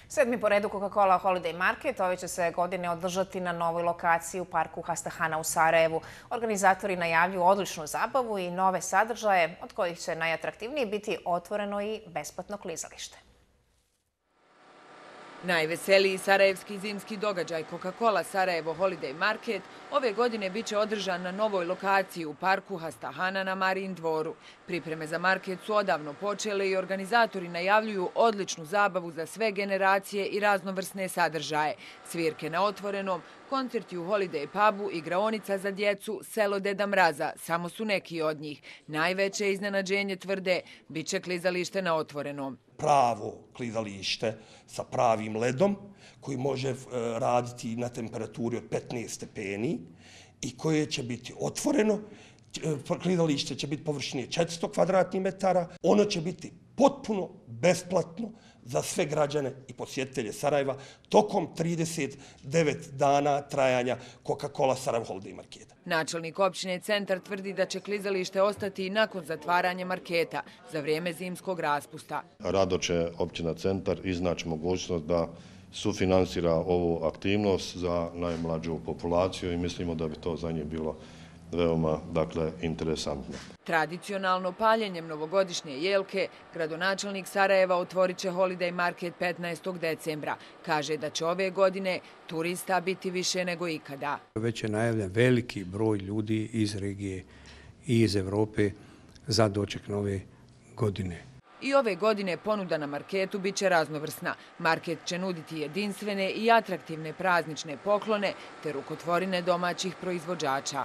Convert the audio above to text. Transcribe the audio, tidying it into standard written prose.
Sedmi po redu Coca-Cola Holiday Market ove će se godine održati na novoj lokaciji u parku Hastahana u Sarajevu. Organizatori najavljuju odličnu zabavu i nove sadržaje, od kojih će najatraktivniji biti otvoreno i besplatno klizalište. Najveseliji sarajevski zimski događaj Coca-Cola Sarajevo Holiday Market ove godine biće održan na novoj lokaciji u parku Hastahana na Marijin dvoru. Pripreme za market su odavno počele i organizatori najavljuju odličnu zabavu za sve generacije i raznovrsne sadržaje. Svirke na otvorenom, koncerti u Holiday pubu, igraonica za djecu, selo Deda Mraza, samo su neki od njih. Najveće iznenađenje, tvrde, bit će klizalište na otvorenom. Pravo klizalište sa pravim ledom koji može raditi na temperaturi od 15 stepeni i koje će biti otvoreno. Klizalište će biti površine 400 kvadratnih metara. Ono će biti potpuno besplatno za sve građane i posjetitelje Sarajeva tokom 39 dana trajanja Coca-Cola Sarajevo Holiday Marketa. Načelnik općine Centar tvrdi da će klizalište ostati i nakon zatvaranja marketa za vrijeme zimskog raspusta. Rado će općina Centar iznaći mogućnost da sufinansira ovu aktivnost za najmlađu populaciju i mislimo da bi to za njih bilo veoma, interesantno. Tradicionalno paljenjem novogodišnje jelke, gradonačelnik Sarajeva otvorit će Holiday Market 15. decembra. Kaže da će ove godine turista biti više nego ikada. Već je najavljen veliki broj ljudi iz regije i iz Evrope za doček nove godine. I ove godine ponuda na marketu bit će raznovrsna. Market će nuditi jedinstvene i atraktivne praznične poklone te rukotvorine domaćih proizvođača.